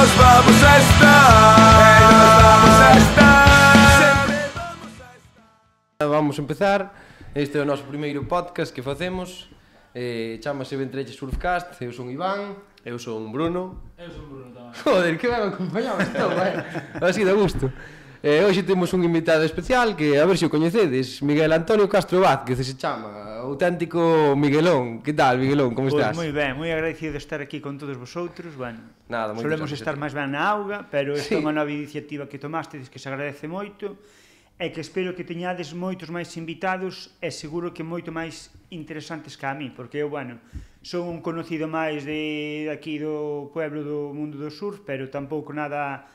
nos vamos a estar, nos vamos a estar, sempre vamos a estar. Vamos a empezar. Este é o noso primeiro podcast que facemos. Chámase Ventreche Surfcast. Eu son Iván. Eu son Bruno. Eu son Bruno tamén. Joder, que ben acompañado estou, así de gusto. Hoxe temos un invitado especial que, a ver se o coñecedes, Miguel Antonio Castro Vázquez, se chama, auténtico Miguelón. Que tal, Miguelón, como estás? Pois moi ben, moi agradecido de estar aquí con todos vosotros. Bueno, Nada, moitas solemos gracias estar a ti. máis ben na auga, pero esta Sí. é unha nova iniciativa que tomastes que se agradece moito e que espero que teñades moitos máis invitados e seguro que moito máis interesantes que a mí, porque eu, bueno, son un conocido máis de aquí do pueblo do mundo do surf, pero tampouco nada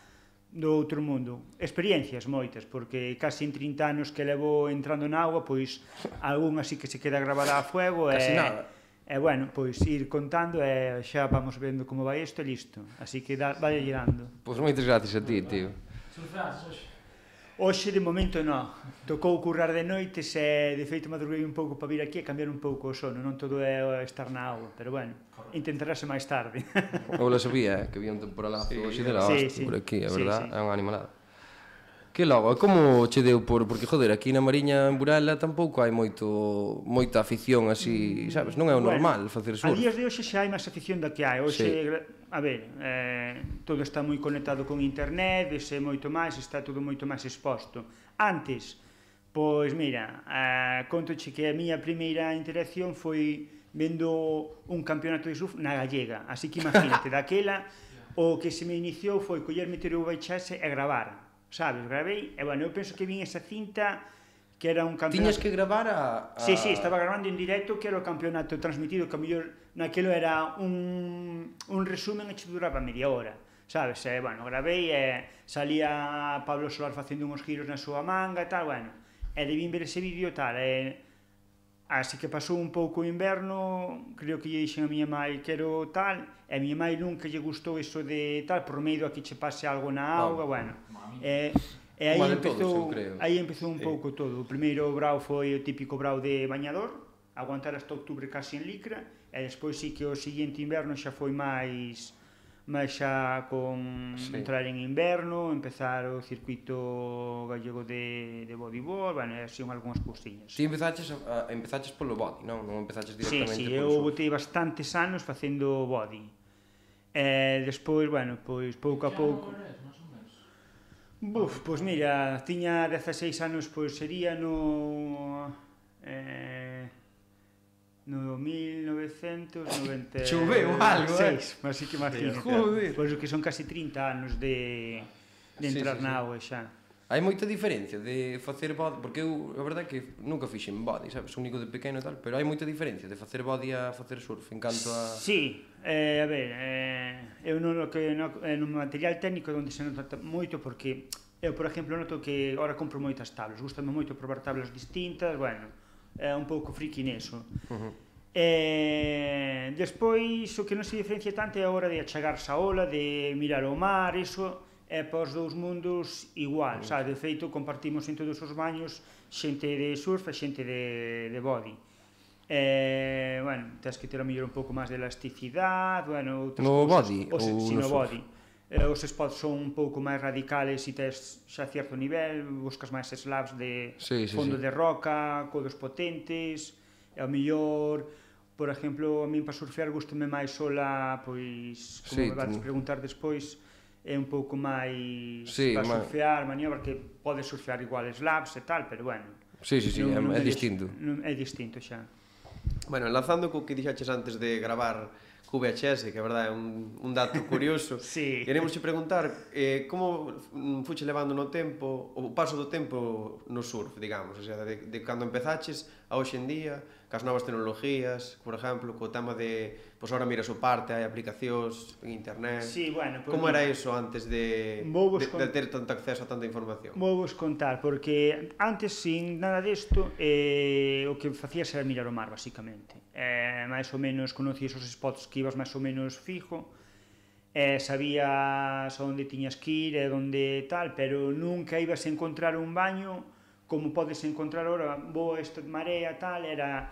do outro mundo. Experiencias moitas, porque casi en 30 anos que levo entrando na auga, pois algún así que se queda grabada a fuego Casi e nada. e bueno, pois ir contando e xa vamos vendo como vai isto e listo. Así que vai girando. Pois moitas gracias a ti, tío. Surfeaste hoxe? Hoxe de momento non. Tocou currar de noites e de feito madruguei un pouco para vir aquí e cambiar un pouco o sono. Non todo é estar na auga, pero bueno, intentarase máis tarde. Eu lo sabía, que había un temporalazo hoxe de la hostia por aquí, a verdad, é unha animalada. Que logo, e como che deu porque, joder, aquí na Mariña, en Burela, tampouco hai moita afición así, sabes? Non é o normal facer A surf. días de hoxe xa hai máis afición da que hai. Hoxe, a ver, todo está moi conectado con internet, vese moito máis, está todo moito máis exposto. Antes, pois mira, contoche que a miña primeira interacción foi vendo un campeonato de surf na Gallega. Así que imagínate, daquela o que se me iniciou foi coller, meter o VHS e gravar. Sabes, gravei, e bueno, eu penso que vin esa cinta que era un campeonato... Tiñas que gravar a... Sí, estaba grabando en directo que era o campeonato transmitido, que a mellor naquelo era un resumen e che duraba media hora, sabes? E, bueno, gravei e salía Pablo Solar facendo uns giros na súa manga e tal, bueno, e debín ver ese vídeo e tal, así que pasou un pouco o inverno, creo que lle dixen a miña mai que era tal, e a miña mai nunca lle gustou iso de tal, por medo a que che pase algo na auga, bueno, e aí empezou un pouco todo. O primeiro brao foi o típico brao de bañador, aguantar hasta outubro casi en licra, e despois sí que o seguinte inverno xa foi máis xa con entrar en inverno, empezar o circuito gallego de bodyboard, bueno, así algunhas cousiñas. Ti empezaches polo body, non? Non empezaches directamente Sí, polo eu surf. botei bastantes anos facendo body. E despois, bueno, pois pouco a pouco... Pois mira, tiña 16 anos, pois sería no 1996. Choveu algo, Así que imagínate. Joder. Pois que son casi 30 anos de entrar na auga xa. Hai moita diferencia de facer body, porque eu, a verdade é que nunca fixen body, sabes, único de pequeno e tal, pero hai moita diferencia de facer body a facer surf en canto a... Sí, a ver, eu no material técnico onde se nota moito porque eu, por exemplo, noto que agora compro moitas tablas, gustame moito probar tablas distintas, bueno, é un pouco friki neso. Despois, o que non se diferencia tanto é a hora de achegarse a ola, de mirar o mar, iso é para os dous mundos igual, sabes? De feito, compartimos en todos os baños xente de surf e xente de body. Bueno, tens que ter a mellor un pouco máis de elasticidade, bueno, outras No cousas. body? Sí, no no surf? body. Os spots son un pouco máis radicales e tes xa certo nivel, buscas máis slabs de fondo de roca, codos potentes, e ao mellor, por exemplo, a min para surfear gustame máis sola, pois, como me vas preguntar despois, é un pouco máis para surfear, maniobra, que podes surfear igual slabs e tal, pero bueno. Sí, é distinto. É distinto xa. Bueno, enlazando co que dixaches antes de gravar co VHS, que a verdade é un dato curioso, Sí. queremos che preguntar como fuche levando no tempo, o paso do tempo no surf, digamos, o sea, de cando empezaches a hoxe en día, cas novas tecnologías, por exemplo, co tema de, pois agora miras o parte, hai aplicacións en internet. Sí, bueno, pues como era iso antes de ter tanto acceso a tanta información? Vou vos contar, porque antes, sin nada desto, o que facías era mirar o mar, basicamente. Mais ou menos conocías os spots que ibas máis ou menos fijo, sabías onde tiñas que ir e onde tal, pero nunca ibas a encontrar un baño como podes encontrar ahora, vou a esta marea tal, era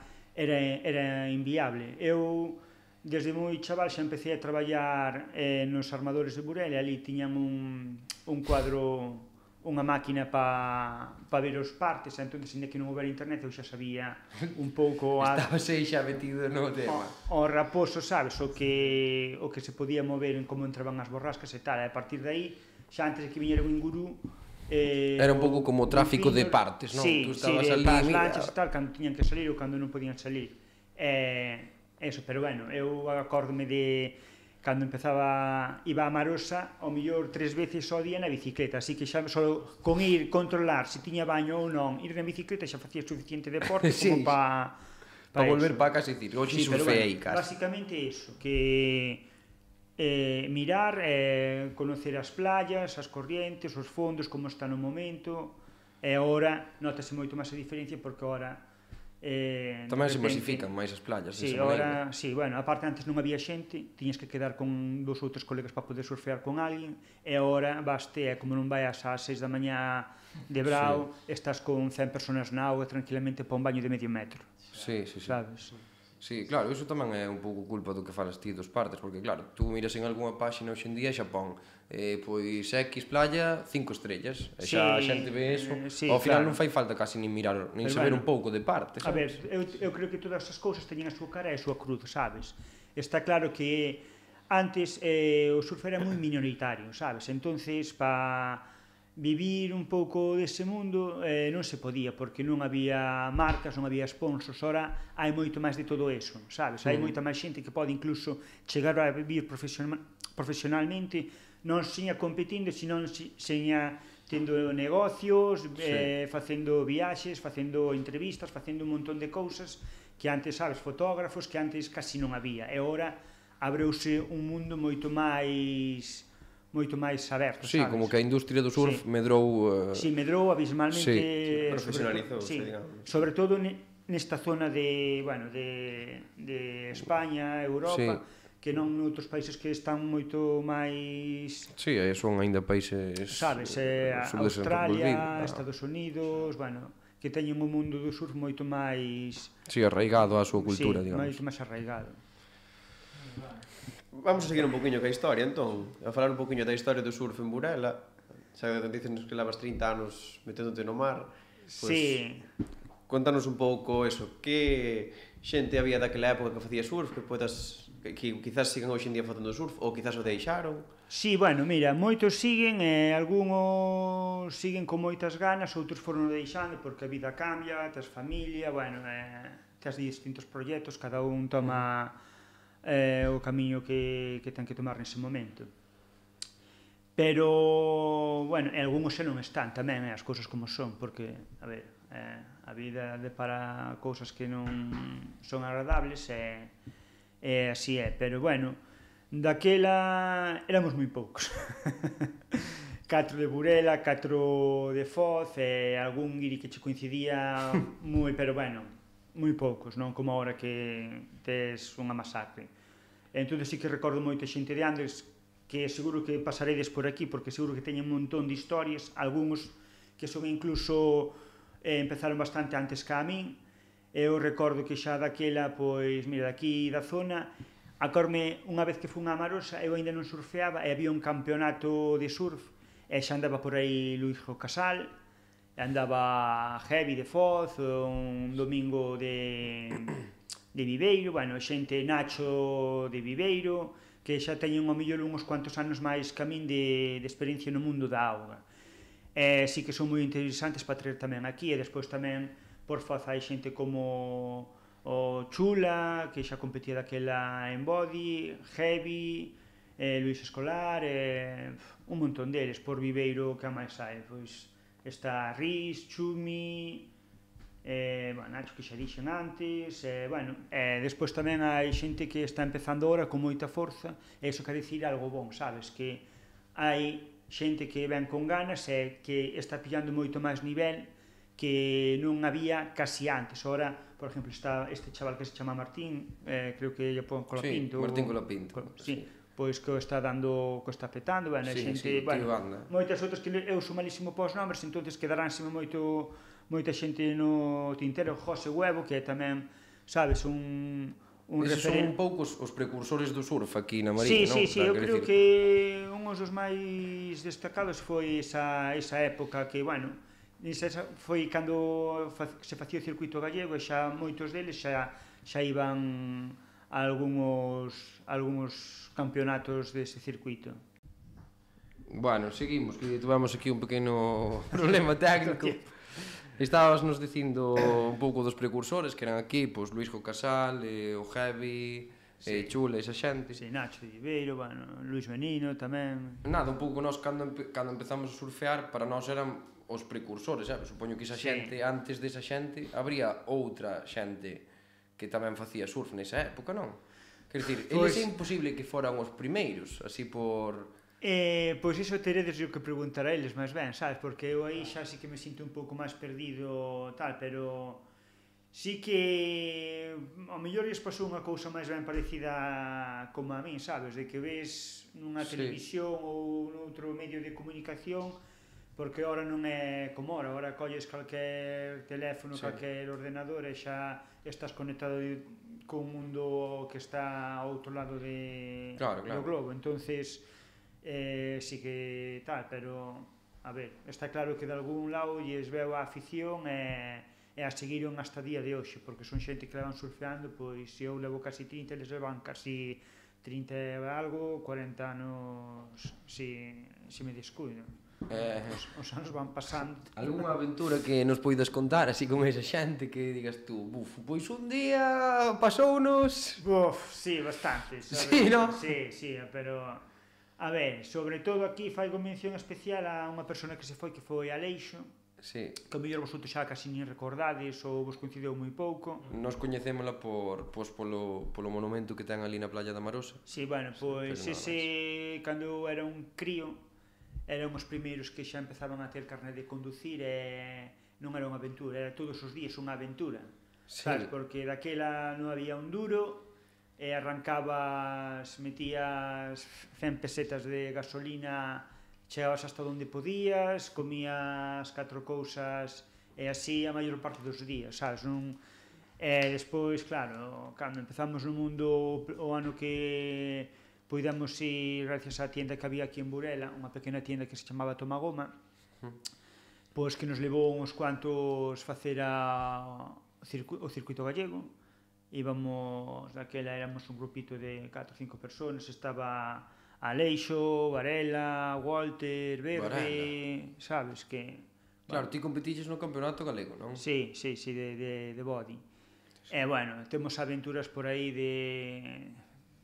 inviable. Eu desde moi chaval xa empecé a traballar nos armadores de Burela e ali tiñan un cuadro, unha máquina para ver os partes, entón, ainda que non houbera internet, eu xa sabía un pouco... Estabas aí xa metido no tema. O raposo, sabes, o que se podía mover en como entraban as borrascas e tal, e a partir de aí, xa antes de que viñera o Ingurú, era un pouco como o tráfico de partes, non? Sí, Tú estabas ali, as lanchas e tal, cando tiñan que salir ou cando non podían salir. Eso, pero bueno, eu acórdome de cando empezaba, iba a Marosa, ao mellor 3 veces ao día na bicicleta, así que xa só con ir controlar se tiña baño ou non, ir na bicicleta xa facía suficiente deporte como para volver para casa e dicir, hoxe surfei, cara. Basicamente iso, que mirar, conocer as playas, as corrientes, os fondos, como está no momento, e agora notase moito máis a diferencia porque agora tamén se masifican máis as playas. Sí, agora, sí, bueno, aparte antes non había xente, tiñas que quedar con 2 ou 3 colegas para poder surfear con alguén, e agora baste, como non vayas ás 6 da mañá de brao, estás con 100 personas na auga tranquilamente para un baño de medio metro. Sí. Sabes? Sí, claro, iso tamén é un pouco culpa do que falas ti dos partes, porque claro, tú miras en algunha páxina hoxe en día xa pon pois X playa, 5 estrellas, e xa a xente ve eso, ao final non fai falta casi nin mirar, nin saber un pouco de partes. A ver, eu creo que todas as cousas teñen a súa cara e a súa cruz, sabes? Está claro que antes o surf era moi minoritario, sabes? Entonces, para vivir un pouco dese mundo non se podía, porque non había marcas, non había sponsors. Ora hai moito máis de todo eso, sabes? Hai moita máis xente que pode incluso chegar a vivir profesionalmente, non seña competindo, senón seña tendo negocios, facendo viaxes, facendo entrevistas, facendo un montón de cousas que antes, sabes, fotógrafos que antes casi non había, e agora abreuse un mundo moito máis aberto, sí, sabes? Como que a industria do surf medrou... Sí, medrou abismalmente... Profesionalizouse, digamos. Sobre todo nesta zona de España, Europa, que non noutros países que están moito máis... Sí, son aínda países... Sabes, Australia, Estados Unidos, bueno, que teñen un mundo do surf moito máis... Sí, arraigado á súa cultura, digamos. Sí, máis arraigado. Vamos a seguir un poquinho ca historia, entón, a falar un poquinho da historia do surf en Burela. Xa dicenos que levas 30 anos meténdote no mar. Sí. Contanos un pouco eso, que xente había daquela época que facía surf, que quizás sigan hoxe en día facendo surf, ou quizás o deixaron. Sí, bueno, mira, moitos siguen, algúns siguen con moitas ganas, outros foron deixando porque a vida cambia, tes familia, bueno, tes distintos proxectos, cada un toma o camiño que ten que tomar nese momento. Pero, bueno, algúns xa non están tamén, as cousas como son, porque, a ver, a vida depara cousas que non son agradables e así é, pero bueno, daquela éramos moi poucos. 4 de Burela, 4 de Foz e algún guiri que che coincidía moi, pero bueno, moi poucos, non como agora que tes unha masacre. Entón sí que recordo moita xente de Andes que seguro que pasaredes por aquí porque seguro que teñen un montón de historias, algúns que son incluso empezaron bastante antes que a min. Eu recordo que xa daquela, pois, mira, daqui da zona, acórme unha vez que fun a Marosa, eu ainda non surfeaba e había un campeonato de surf e xa andaba por aí Luís Casal, andaba Heavy de Foz, un domingo de Viveiro, bueno, xente Nacho de Viveiro, que xa teñen ao mellor uns cuantos anos máis que a min de experiencia no mundo da auga. E sí que son moi interesantes para traer tamén aquí, e despois tamén por Foz hai xente como o Chula, que xa competía daquela en body, Heavy, Luís Escolar, un montón deles. Por Viveiro, que a máis hai? Pois está Riz, Chumi, Nacho, que xa dixen antes, despois tamén hai xente que está empezando ahora con moita forza, e iso quer dicir algo bon, sabes? Que hai xente que ven con ganas e que está pillando moito máis nivel que non había casi antes. Ahora, por exemplo, está este chaval que se chama Martín, creo que lle pon Colapinto. Sí, Martín Colapinto. Sí, pois que o está dando, que o está petando, bueno, xente, bueno, moitas outras que eu sou malísimo pos nombres, entonces quedaránseme moita xente no tintero. José Huevo, que é tamén, sabes, un Eses son un pouco os precursores do surf aquí na Mariña, non? Sí, eu creo que un dos máis destacados foi esa época que, bueno, foi cando se facía o circuito gallego e xa moitos deles xa iban a algúns campeonatos dese circuito. Bueno, seguimos, que tivemos aquí un pequeno problema técnico. Estábamos nos dicindo un pouco dos precursores que eran aquí, pois Luisjo Casal, o Heavy, Chula, esa xente. Sí, Nacho de Ribeiro, bueno, Luis Benino tamén. Nada, un pouco nós cando empezamos a surfear, para nós eran os precursores, sabes? Supoño que esa xente, antes desa xente, habría outra xente que tamén facía surf nesa época, non? Quer dicir, eles é imposible que foran os primeiros, así por... Pois iso teredes o que preguntar a eles máis ben, sabes? Porque eu aí xa sí que me sinto un pouco máis perdido tal, pero sí que ao mellor lles pasou unha cousa máis ben parecida como a min, sabes? De que ves nunha televisión ou noutro medio de comunicación, porque ahora non é como ahora colles calquer teléfono, calquer ordenador e xa estás conectado con un mundo que está ao outro lado do globo, entonces sí que tal, pero a ver, está claro que de algún lado lles veo a afición e a seguiron hasta día de hoxe, porque son xente que levan surfeando, pois se eu levo casi 30, eles levan casi 30 e algo, 40 anos se me descuido. Os anos van pasando. Algúnha aventura que nos poidas contar así con esa xente que digas tú, pois un día pasounos... Sí, bastante, sabes? Sí, non? Sí, pero... A ver, sobre todo aquí faigo mención especial a unha persona que foi Aleixo, que ao mellor vosotros xa casi nin recordades ou vos coincideu moi pouco. Nos coñecémola polo monumento que ten ali na playa da Marosa. Sí, bueno, pois ese, cando eu era un crío, eran os primeiros que xa empezaban a ter carné de conducir e non era unha aventura, era todos os días unha aventura, sabes? Porque daquela non había un duro, e arrancabas, metías 100 pesetas de gasolina, chegabas hasta onde podías, comías 4 cousas e así a maior parte dos días, sabes? E despois, claro, cando empezamos no mundo o ano que poidamos ir gracias á tienda que había aquí en Burela, unha pequena tienda que se chamaba Tomagoma, pois que nos levou uns cuantos facer o circuito gallego. Íbamos, daquela éramos un grupito de 4 ou 5 personas, estaba Aleixo, Varela, Walter, Verde, sabes que... Claro, ti competiches no campeonato galego, non? Sí, de body. E, bueno, temos aventuras por aí de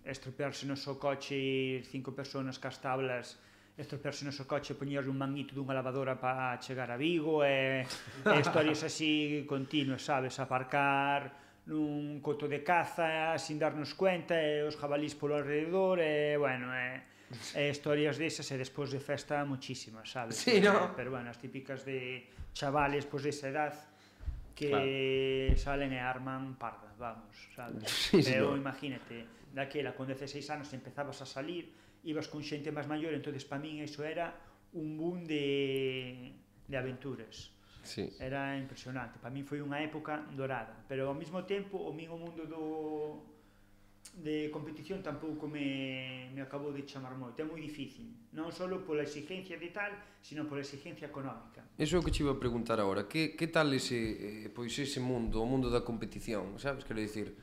estropearse no seu coche, ir 5 personas cas tablas, estropearse no seu coche, poñer un manguito dunha lavadora para chegar a Vigo, e historias así continuas, sabes? Aparcar nun coto de caza sin darnos cuenta e os jabalís polo alrededor e, bueno, historias desas e despois de festa muchísimas, sabes? Sí, non? Pero, bueno, as típicas de chavales pois desa edad que salen e arman parda, vamos, sabes? Pero imagínate, daquela con 16 anos empezabas a salir, ibas con xente máis maior, entonces para min iso era un boom de aventuras. Era impresionante, para min foi unha época dorada, pero ao mesmo tempo o mundo de competición tampouco me acabou de chamar moito, é moi difícil, non só pola exigencia de tal, sino pola exigencia económica. Iso é o que te iba a preguntar agora, que tal ese mundo, o mundo da competición, sabes? Quero dicir,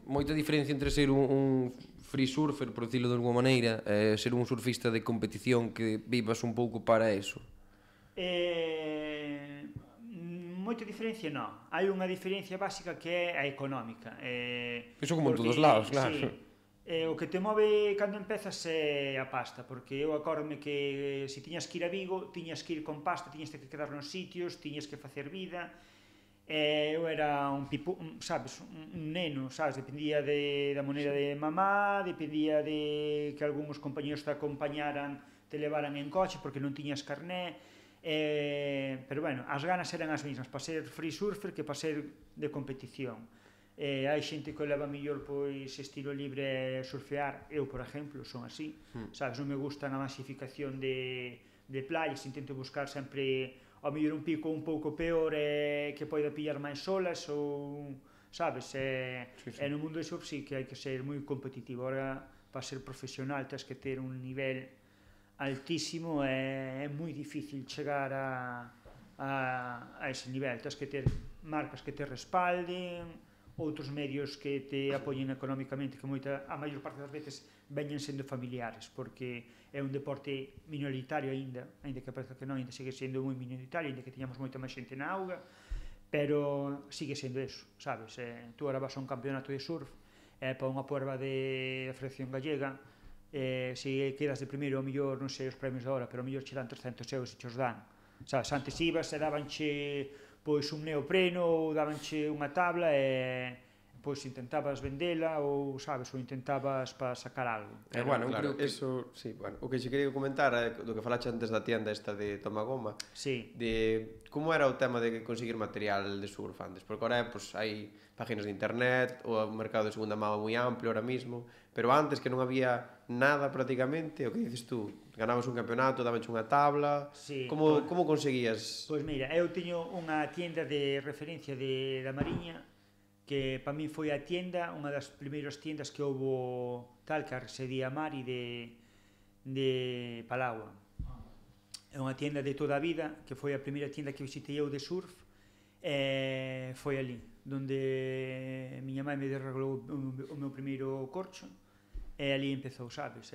moita diferencia entre ser un free surfer, por dicirlo de alguma maneira, e ser un surfista de competición que vivas un pouco para eso. Moita diferencia non, hai unha diferencia básica que é a económica. Iso como en todos lados, claro. O que te move cando empezas é a pasta, porque eu acórdome que se tiñas que ir a Vigo, tiñas que ir con pasta, tiñas que quedar nos sitios, tiñas que facer vida. Eu era un neno, sabes, dependía da moneda de mamá, dependía de que algúns compañeros te acompañaran, te levaran en coche porque non tiñas carné. Pero, bueno, as ganas eran as mesmas para ser free surfer que para ser de competición. Hai xente que leva mellor pois estilo libre surfear, eu, por exemplo, son así, sabes, non me gusta a masificación de playas, intento buscar sempre ao mellor un pico un pouco peor que poida pillar máis olas ou sabes? E no mundo do surf sí que hai que ser moi competitivo. Ahora, para ser profesional, tens que ter un nivel altísimo e é moi difícil chegar a ese nivel. Tens que ter marcas que te respalden, outros medios que te apoyen económicamente, que a maior parte das veces veñen sendo familiares, porque é un deporte minoritario aínda que parece que non, aínda sigue sendo moi minoritario, aínda que teñamos moita máis xente na auga, pero sigue sendo eso, sabes? Tú ahora vas a un campeonato de surf, para unha prova de Federación Gallega, se quedas de primeiro, ao mellor, non sei os premios da hora, pero ao mellor che dan 300 euros e che os dan, sabes? Antes ibas e dabanche pois un neopreno ou dabanche unha tabla e pois intentabas vendela ou, sabes, ou intentabas para sacar algo. Bueno, claro, eso, sí, bueno, o que xe quería comentar do que falaxe antes da tienda esta de Tomagoma, sí, de como era o tema de conseguir material de surf antes, porque ahora pues, hai páginas de internet, o mercado de segunda mão moi amplio ahora mismo, pero antes que non había nada prácticamente, o que dices tú, ganabas un campeonato, dabanche unha tabla, sí, como conseguías? Pois mira, eu teño unha tienda de referencia da Mariña, que para mí foi a tienda, unha das primeiras tiendas que houbo tal, que residía a Mari de Palagua. É unha tienda de toda a vida, que foi a primeira tienda que visitei eu de surf, e foi ali, donde miña mãe me desreglou o meu primeiro corcho, e ali empezou, sabes?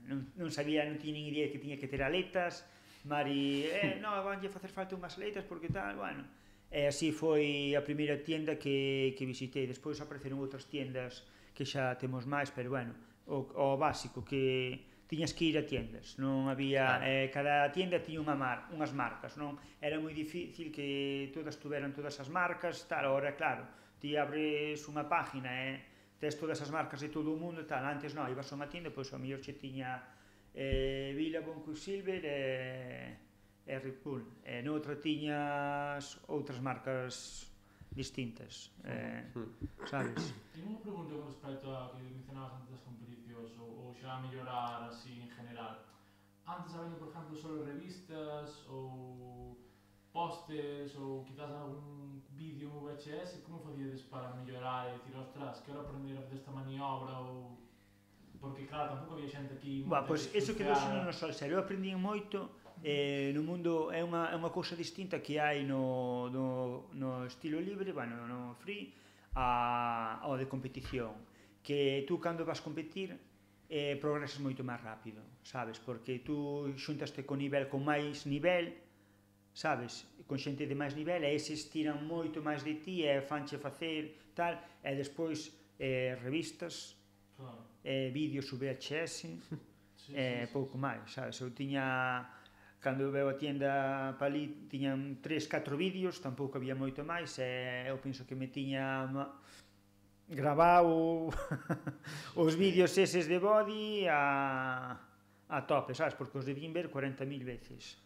Non sabía, non tiña nin idea que tiña que ter aletas, Mari, non, vanlle facer falta unhas aletas porque tal, bueno. E así foi a primeira tienda que visitei. Despois apareceron outras tiendas que xa temos máis, pero bueno, o básico, que tiñas que ir a tiendas, non había, cada tienda tiña unhas marcas, non? Era moi difícil que todas tuveran todas as marcas, tal, agora claro, ti abres unha página e tes todas as marcas de todo o mundo, tal, antes non, ibas a unha tienda, pois ao mellor che tiña Billabong, Quicksilver e Red Bull, e noutra tiñas outras marcas distintas, sabes? Tengo unha pregunta con respecto a que mencionabas antes das competicións ou xa a mellorar así en general. Antes había, por exemplo, solo revistas ou postes ou quizás algún vídeo en VHS, como facíades para mellorar e dicir, ostras, quero aprender a fazer esta maniobra ou... Porque, claro, tampouco había xente aquí... Pois iso que dou no sol serio, eu aprendi moito no mundo, é unha cousa distinta que hai no estilo libre, bueno, no free, ao de competición, que tú cando vas competir progresas moito máis rápido, sabes, porque tú xuntaste con máis nivel, sabes, con xente de máis nivel, e eses tiran moito máis de ti e fanche facer tal, e despois revistas, vídeos VHS, pouco máis, sabes, eu tiña... Cando eu veo a tienda para ali, tiñan 3-4 vídeos, tampouco había moito máis, e eu penso que me tiña gravado os vídeos eses de body a tope, sabes, porque os debín ver 40.000 veces.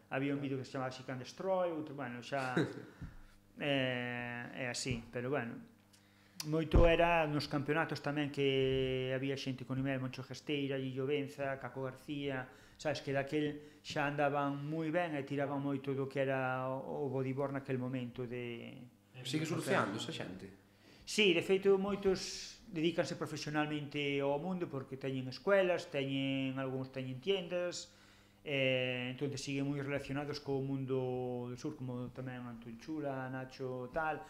Había un vídeo que se chamaba She Can Destroy, outro, bueno, xa é así, pero bueno, moito era nos campeonatos tamén que había xente con nivel, Moncho Gesteira, Lillo Benza, Caco García, sabes, que daquel xa andaban moi ben e tiraban moito do que era o bodyboard naquel momento de... Sigue surfeando esa xente? Sí, de feito moitos dedícanse profesionalmente ao mundo porque teñen escuelas, algúns teñen tiendas, entón siguen moi relacionados co mundo do surf, como tamén Antón Chula, Nacho tal,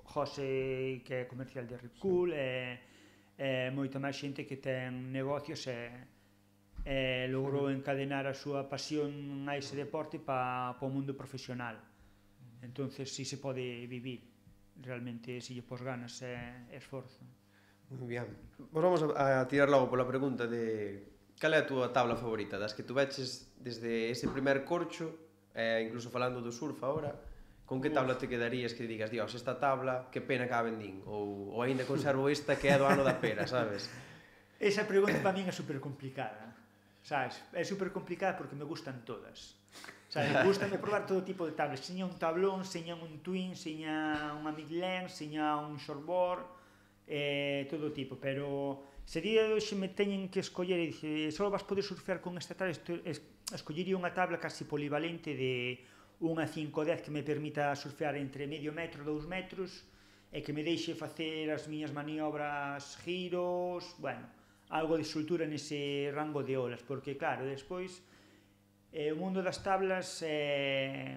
José, que é comercial de Red Bull, e moita máis xente que ten negocios e logrou encadenar a súa pasión a ese deporte para o mundo profesional. Entonces si se pode vivir realmente se lle pos ganas e esforzo. Moi ben. Pues vamos a tirar logo pola pregunta de cal é a túa tabla favorita, das que tu veches desde ese primer corcho, incluso falando do surf agora, con que tabla te quedarías que digas, dios, esta tabla, que pena que a vendín, ou aínda conservo esta que é do ano da pera, sabes? Esa pregunta para min é super complicada, sabes? É super complicada porque me gustan todas. Sabes, gustame probar todo tipo de tablas, seña un tablón, seña un twin, seña unha midlength, seña un shortboard, todo tipo, pero se día de hoxe me teñen que escoller e dice, só vas poder surfear con esta tabla, escollería unha tabla casi polivalente de unha 510 que me permita surfear entre medio metro, 2 metros, e que me deixe facer as miñas maniobras, giros, bueno, algo de soltura nese rango de olas, porque claro, despois o mundo das tablas é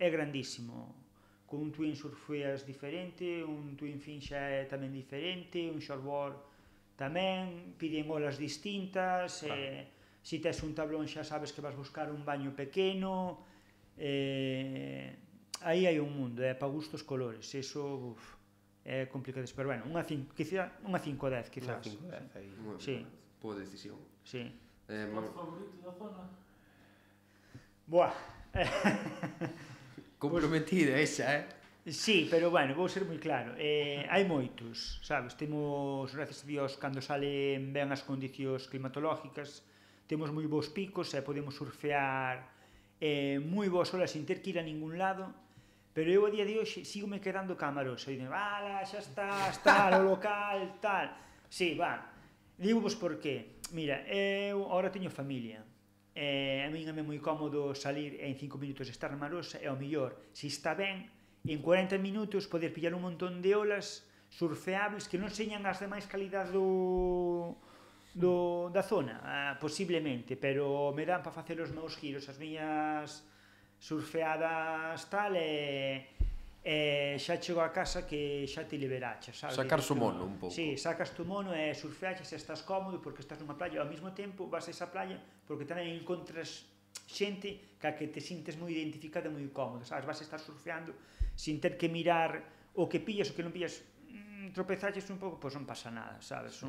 grandísimo. Con un twin surfeas diferente, un twin fin xa é tamén diferente, un shortboard tamén, piden olas distintas, se tes un tablón xa sabes que vas buscar un baño pequeno, aí hai un mundo, para gustos colores, eso é complicado, pero bueno, unha 5-10 quizás. Unha 5-10 aí. Sí. Boa decisión. Sí. Spot favorito da zona? Buah. Comprometida esa, Sí, pero bueno, vou ser moi claro. Hai moitos, sabes? Temos, gracias a Dios, cando salen ben as condicións climatológicas, temos moi bons picos e podemos surfear moi boas olas sin ter que ir a ningún lado, pero eu a día de hoxe sigo me quedando camarosa. E dicen, ala, xa está o local, tal. Sí, va. Digo vos por qué. Mira, eu agora teño familia. A min é moi cómodo salir en 5 minutos estar na Marosa e ao mellor, se está ben, en 40 minutos poder pillar un montón de olas surfeables que non señan as de máis calidad da zona, posiblemente, pero me dan para facer os meus giros, as miñas surfeadas tal, e xa chego a casa que xa te liberaches, sabes? Sacar o mono un pouco. Sí, sacas tu mono e surfeaches e estás cómodo porque estás nunha playa, ao mesmo tempo vas a esa playa porque tamén encontras xente ca que te sintes moi identificada e moi cómodo, sabes? Vas a estar surfeando sin ter que mirar o que pillas, o que non pillas, tropezaches un pouco, pois non pasa nada, sabes?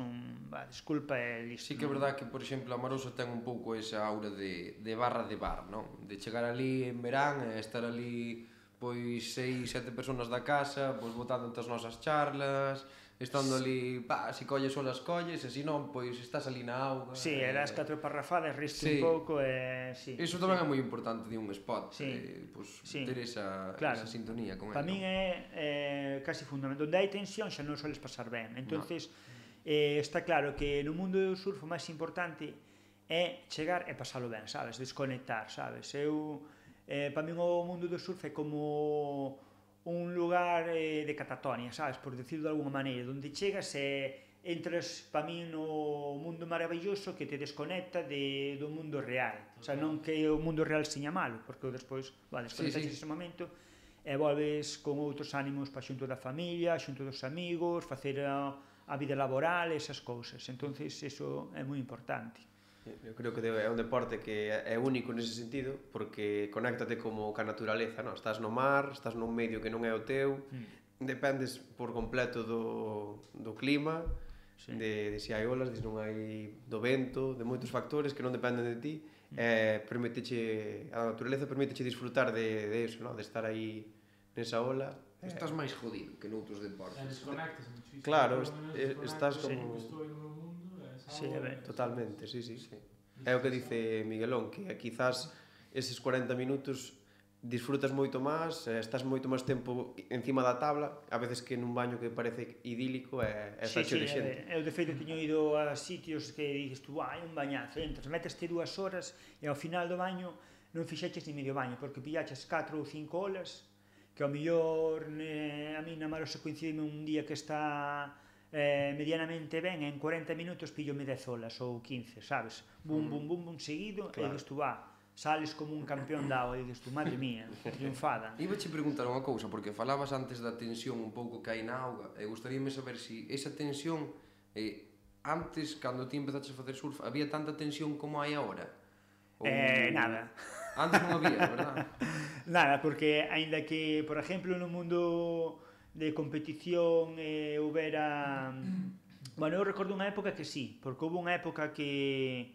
Desculpa e listo. Sí que é verdade que, por exemplo, a Marosa ten un pouco esa aura de barra de bar, non? De chegar ali en verán e estar ali pois 6-7 personas da casa, pois botando as nosas charlas, estando ali, se colles olas colles, e se non, pois estás ali na auga. Sí, eras 4 parrafadas, riste un pouco e... Sí, iso tamén é moi importante de un spot, pois ter esa sintonía con ele. Para min é casi fundamental. Onde hai tensión xa non soles pasar ben. Entonces, está claro que no mundo do surf o máis importante é chegar e pasalo ben, sabes? Desconectar, sabes? Para min o mundo do surf é como un lugar de catatonia, sabes? Por decirlo de alguma maneira, onde chegas e entras para min no mundo maravilloso que te desconecta do mundo real. O sea, non que o mundo real seña malo, porque despois desconectas ese momento e volves con outros ánimos para xunto da familia, xunto dos amigos, facer a vida laboral, esas cousas. Entonces, eso é moi importante. Eu creo que é un deporte que é único nese sentido, porque conéctate como ca naturaleza, non? Estás no mar, estás nun medio que non é o teu, dependes por completo do clima, de se hai olas, de se non hai do vento, de moitos factores que non dependen de ti, a naturaleza permíteche disfrutar de eso, non? De estar aí nesa ola. Estás máis jodido que noutros deportes. Desconectas muchísimo. Claro, estás como... Estou no meu mundo, totalmente, sí. É o que dice Miguelón, que quizás eses 40 minutos disfrutas moito máis, estás moito máis tempo encima da tabla, a veces que nun baño que parece idílico está cheo de xente. Eu de feito teño ido a sitios que dices tú, hai un bañazo, entras, meteste 2 horas e ao final do baño non fixeches ni medio baño, porque pillaches 4 ou 5 olas, que ao mellor a mí na Marosa coincide un día que está medianamente ben, en 40 minutos pillome 10 olas ou 15, sabes? Bum, seguido, e dices tú, sales como un campeón da agua, e dices tú, madre mía, triunfada. Iba che preguntar unha cousa, porque falabas antes da tensión un pouco que hai na auga, e gustaríame saber se esa tensión, antes, cando ti empezaches a facer surf, había tanta tensión como hai agora? Nada. Antes non había, verdad? Nada, porque aínda que, por exemplo, no mundo de competición houbera... Bueno, eu recordo unha época que sí, porque houve unha época que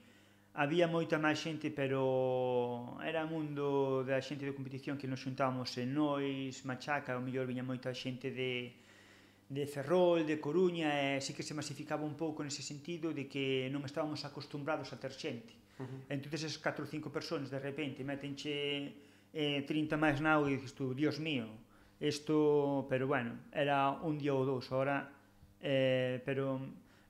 había moita máis xente, pero era o mundo da xente de competición que nos xuntábamos en Nois, Machaca, ao mellor viña moita xente de Ferrol, de Coruña, e sí que se masificaba un pouco nese sentido de que non estábamos acostumbrados a ter xente. Entón, esas 4 ou 5 persoas de repente metenche 30 máis na auga e dices tú, Dios mío, isto, pero bueno, era un día ou dous, ahora, pero,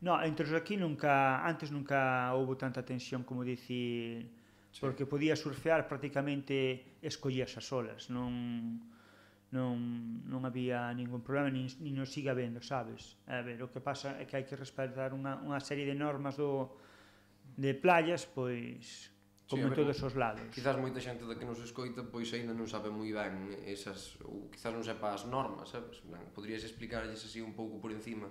no, entre os aquí antes nunca houve tanta tensión como dicir, porque podías surfear prácticamente escollías as olas, non non había ningún problema, nin nos sigue habendo, sabes? A ver, o que pasa é que hai que respetar unha serie de normas de playas, pois, como en todos os lados. Quizás moita xente da que nos escoita pois aínda non sabe moi ben esas, ou quizás non sepa as normas, sabes? Podrías explicarlles así un pouco por encima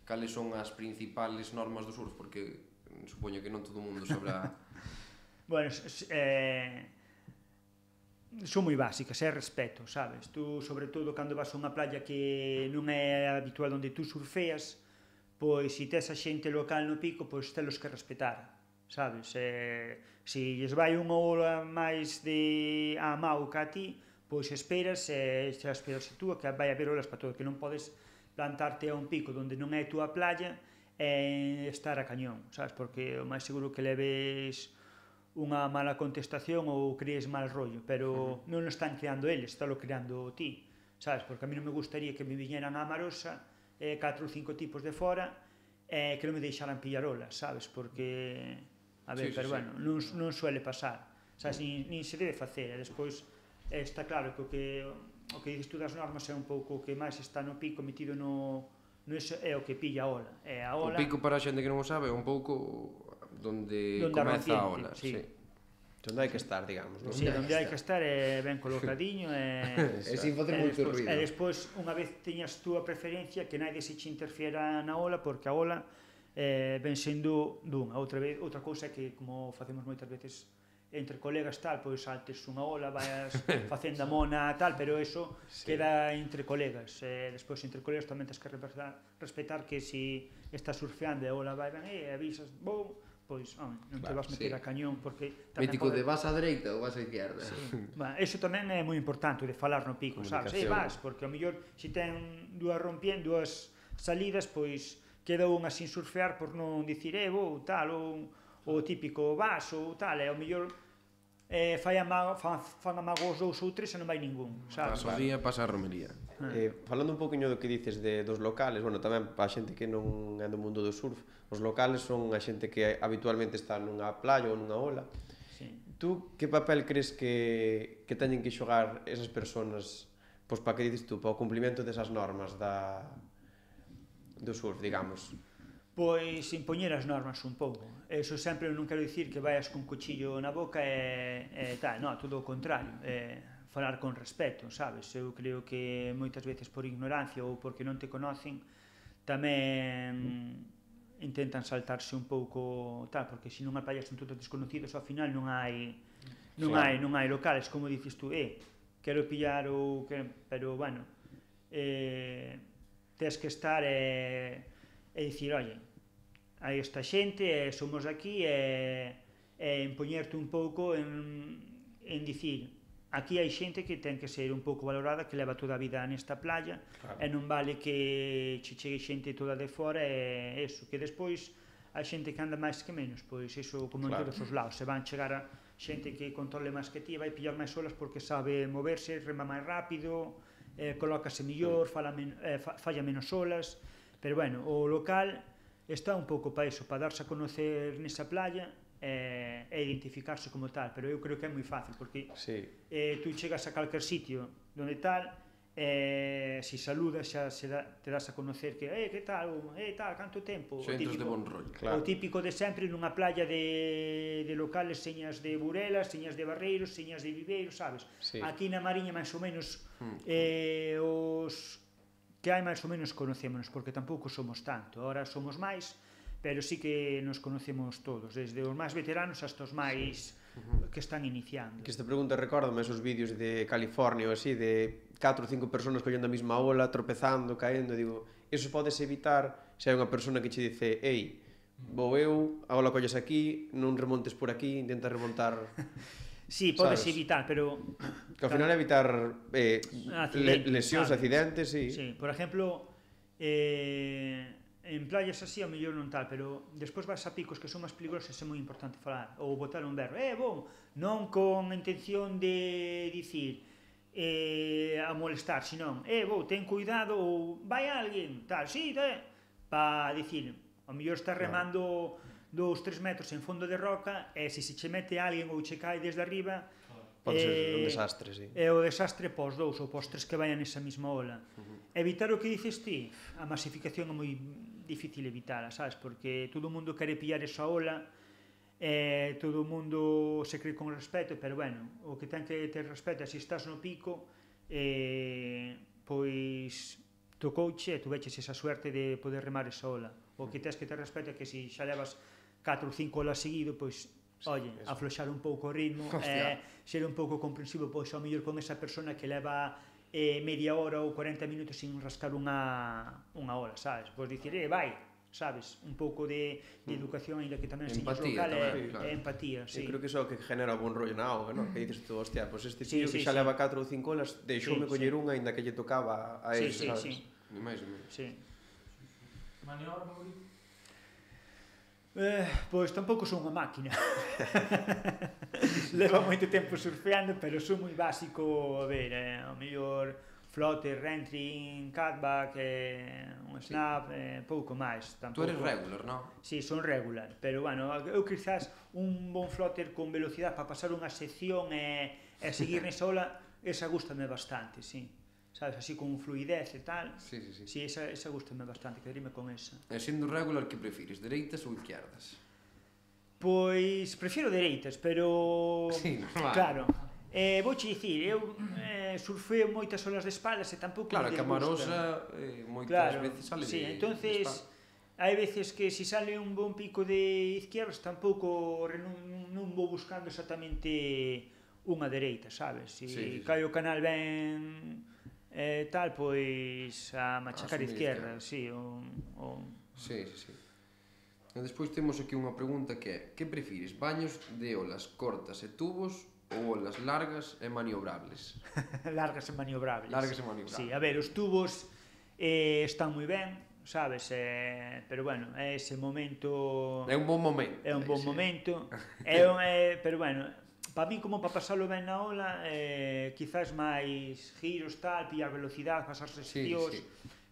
cales son as principales normas do surf, porque supoño que non todo o mundo sabrá. Bueno, son moi básicas, é respeto, sabes? Tú, sobre todo, cando vas a unha playa que non é habitual onde tú surfeas, pois, se tes a xente local no pico, pois telos que respetar, sabes? Se lles vai unha ola máis de a mau que a ti, pois esperas, xa esperas a túa, que vai haber olas para todo, que non podes plantarte a un pico onde non é a túa playa e estar a cañón, sabes? Porque o máis seguro que leves unha mala contestación ou crees mal rollo, pero non o están creando eles, está lo creando ti, sabes? Porque a mí non me gustaría que me viñeran a Marosa 4 ou 5 tipos de fora que non me deixaran pillar olas, sabes? Porque, a ver, pero bueno, non suele pasar, sabes? Nin se debe facer, e despois está claro que o que dices tú das normas é un pouco o que máis está no pico metido no iso, é o que pilla a ola. O pico, para a xente que non o sabe, é un pouco onde comeza a ola, sí. Onde hai que estar, digamos, non? Sí, onde hai que estar é ben colocadiño e sin facer moito ruido. E despois, unha vez teñas tú a preferencia, que naide se che interfiera na ola, porque a ola ven sendo dunha. Outra cousa é que, como facemos moitas veces entre colegas tal, pois saltes unha ola, vayas facendo a mona tal, pero eso queda entre colegas. Despois entre colegas tamén tens que respetar que se estás surfeando e a ola vai ben, avisas, bom, pois non te vas meter a cañón, porque mítico de vas á dereita ou vas á izquierda. Eso tamén é moi importante, de falar no pico, sabes? Vas, porque ao mellor se ten dúas salidas, pois queda unha sin surfear por non dicir vou tal, ou o típico vas ou tal, e ao mellor fan amago os 2 ou 3 e non vai ningún, sabes? Pasa o día, pasa a romería. Falando un poquinho do que dices dos locales, bueno, tamén para a xente que non é do mundo do surf, os locales son a xente que habitualmente está nunha playa ou nunha ola. Tú, que papel crees que teñen que xogar esas persoas, pois para que dices tú, para o cumplimento desas normas do surf, digamos? Pois impoñer as normas un pouco. Eso sempre non quero dicir que vayas con cuchillo na boca e tal, non, todo o contrario. Falar con respeto, sabes? Eu creo que moitas veces por ignorancia ou porque non te conocen tamén intentan saltarse un pouco tal, porque se non a playa son todos desconocidos, ao final non hai locales, como dices tú, quero pillar ou pero bueno, tes que estar e dicir, oye, hai esta xente, somos aquí, e empoñerte un pouco en dicir, aquí hai xente que ten que ser un pouco valorada, que leva toda a vida nesta playa, e non vale que che chegue xente toda de fora, e eso, que despois hai xente que anda máis que menos, pois iso como en todos os lados, se van chegar a xente que controle máis que ti, vai pillar máis olas porque sabe moverse, rema máis rápido, colócase mellor, falla menos olas. Pero bueno, o local está un pouco para iso, para darse a conocer nesa playa e identificarse como tal, pero eu creo que é moi fácil, porque tú chegas a calquer sitio donde tal, se saludas xa te das a conocer que que tal, canto tempo, xentes de bon rollo. O típico de sempre nunha playa de locales, señas de Burelas, señas de Barreiros, señas de Viveiros, sabes? Aquí na Mariña máis ou menos os que hai máis ou menos conocémonos, porque tampouco somos tanto, agora somos máis, pero sí que nos conocemos todos, desde os máis veteranos hasta os máis que están iniciando. Que esta pregunta recórdame esos vídeos de California ou así, de 4 ou 5 personas collendo a mesma ola, tropezando, caendo, digo, eso podes evitar se hai unha persona que che dice, vou eu, a ola colles aquí, non remontes por aquí, intenta remontar... Sí, podes evitar, pero... Que ao final evitar lesións, accidentes, sí. Sí, por exemplo, en playas así, ao mellor non tal, pero despois vas a picos que son máis peligrosos, é moi importante falar, ou botar un berro, bom, non con intención de dicir a molestar, senón, ten cuidado, ou vai alguén, tal, para dicir, ao mellor estás remando 2-3 metros en fondo de roca, e se che mete alguén ou che cae desde arriba, Pode ser un desastre, sí. É o desastre pos 2 ou pos 3 que vayan nesa mesma ola. Evitar o que dices ti, a masificación é moi difícil evitala, sabes? Porque todo o mundo quere pillar esa ola, todo o mundo se cree con respeto, pero bueno, o que ten que ter respeto é se estás no pico, pois tocouche e tu veches esa suerte de poder remar esa ola. O que tens que ter respeto é que se xa levas 4 ou 5 olas seguido, pois oye, afloxar un pouco o ritmo, ser un pouco comprensivo, pois ao mellor con esa persona que leva media hora ou 40 minutos sin rascar unha ola, sabes? Pois dicir, vai, sabes? Un pouco de educación, ainda que tamén señas local, é empatía, sí. Eu creo que iso é o que genera algún rollo na auga, non? Que dices tú, hostia, pois este tío que xa leva 4 ou 5 olas, deixoume coller unha ainda que lle tocaba a él, sabes? Ni máis ni menos. Sí. Maniobra favorita? Pois tampouco son unha máquina. Levo moito tempo surfeando, pero son moi básico, a ver, ao mellor floater, rentring, cutback, un snap, pouco máis. Tú eres regular, non? Sí, son regular, pero bueno, eu quizás un bon floater con velocidade para pasar unha sección e seguir nesa ola, esa gústame bastante, sí. Sabes, así con fluidez e tal. Sí. Sí, esa gústame bastante, quedaríme con esa. E sendo regular, que prefires, dereitas ou izquierdas? Pois, prefiro dereitas, pero... Sí, normal. Claro. Vouche dicir, eu surfeo moitas olas de espaldas e tampouco Claro, me que a marosa moitas veces sale de entonces, hai veces que se sale un bon pico de izquierdas tampouco non vou buscando exactamente unha dereita, sabes? Se cae o canal ben tal, pois a machacar izquierda, sí, Sí. E despois temos aquí unha pregunta que é: que prefires, baños de olas cortas e tubos ou olas largas e maniobrables? Largas e maniobrables. Sí, a ver, os tubos están moi ben, sabes, pero bueno, é ese momento... É un bon momento. É un bon momento, pero bueno, para mí como para pasalo ben na ola, quizás máis giros, tal, pillar velocidade, pasar seccións,